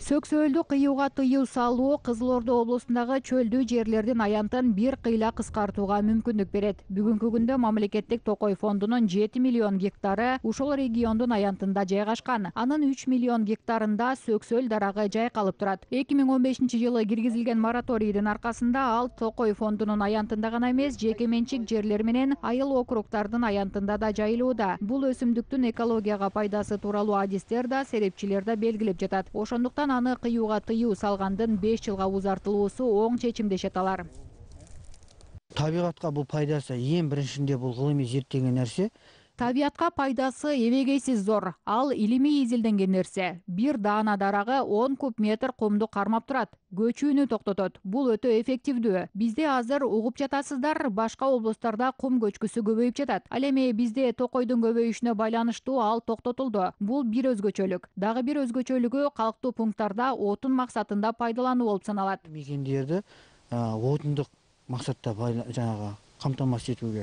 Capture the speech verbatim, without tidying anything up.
Сөксөөлдү кыюуга тыюу салуу Кызыл Ордо облусундагы чөлдүү жерлердин аянтын бир кыйла кыскартууга мүмкүндүк берет. Бүгүнкү күндө мамлекеттик токой фондунун жети миллион гектары ушул региондун аянтында жайгашкан. Анын үч миллион гектарында сөксөөл дарагы жайкалып турат. эки миң он бешинчи жылы киргизилген мораторийдин аркасында ал токой фондунун аянтында гана эмес, жеке менчик жерлер менен айыл округдардын аянтында да жайылууда. Бул өсүмдүктүн экологияга пайдасы тууралуу адистер да, серепчилер да белгилеп жатат. Ошондуктан аны кыюуга тыюу салгандын беш жылга узартылуусу оң чечим дешет алар. Табигатка бул пайдасы эң биринчиде бул кылымый зерттеген нерсе. Табиатка пайдасы эбегейсиз зор. Ал илимий изилденген нерсе. Бир даана дарагы он куб метр кумду кармап турат. Көчүүнү токтотот. Бул өтө эффективдүү. Бизде азыр угуп жатасыздар, башка облустарда кум көчкүсү көбөйүп жатат. Ал эми бизде токойдун көбөйүшүнө байланыштуу ал токтотулду. Бул бир өзгөчөлүк. Дагы бир өзгөчөлүгү калктуу пункттарда отун максатында пайдалануу болуп саналат. Мекендерди отундук максатта жанагы камтамасыз этүүгө